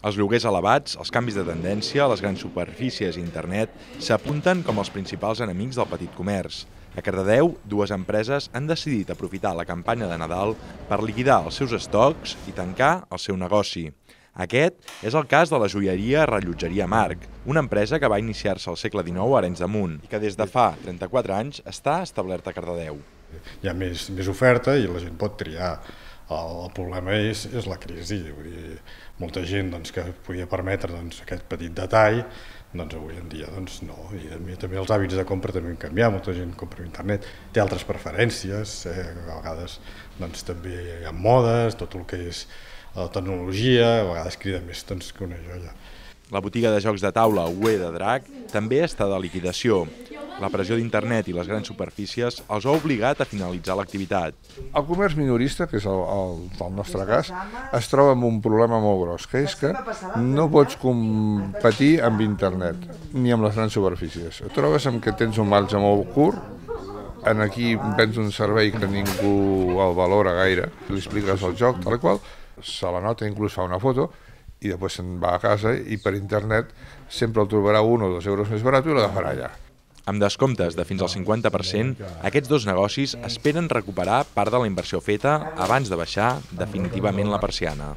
Els lloguers elevats, els canvis de tendència, les grans superfícies i internet s'apunten com els principals enemics del petit comerç. A Cardedeu, dues empreses han decidit aprofitar la campanya de Nadal per liquidar els seus estocs i tancar el seu negoci. Aquest és el cas de la joieria Rellotgeria Marc, una empresa que va iniciar-se al segle XIX a Arenys de Munt i que des de fa 34 anys està establerta a Cardedeu. Hi ha més oferta i la gent pot triar. El problema és la crisi. Vull dir, molta gent que podia permetre aquest petit detall, avui en dia no. I també els hàbits de compra també han canviat, molta gent compra per internet, té altres preferències, a vegades també hi ha modes, tot el que és la tecnologia, a vegades crida més que una joia. La botiga de jocs de taula UE de Drac també està de liquidació. La pressió d'internet i les grans superfícies els ha obligat a finalitzar l'activitat. El comerç minorista, que és el nostre cas, es troba amb un problema molt gros, que és que no pots competir amb internet ni amb les grans superfícies. Et trobes amb que tens un marge molt curt, aquí vens un servei que ningú el valora gaire, li expliques el joc, tal qual, se la nota, inclús fa una foto, i després se'n va a casa i per internet sempre el trobarà 1 o 2 euros més barat i l'agafarà allà. Amb descomptes de fins al 50%, aquests dos negocis esperen recuperar part de la inversió feta abans de baixar definitivament la persiana.